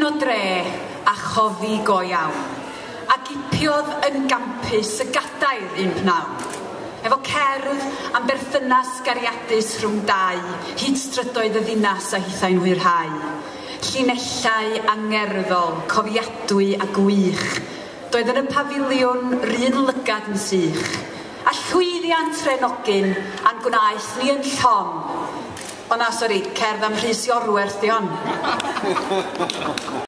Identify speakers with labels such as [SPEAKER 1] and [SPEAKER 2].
[SPEAKER 1] Hogyn o dre a choddi go iawn, a gipiodd yn gampus y gadair un pnawn. Efo cerdd am berthynas gariadus rhwng dau, hyd strydoedd y ddinas a hithau'n hwyrhau. Llinellau angerddol, cofiadwy a gwych, doedd yn y pafiliwn 'run lygad yn sych. A llwyddiant Rhenogyn a'n gwnaeth ni yn llon. O na, sori, cerdd am Rhys Iorwerth 'di hon.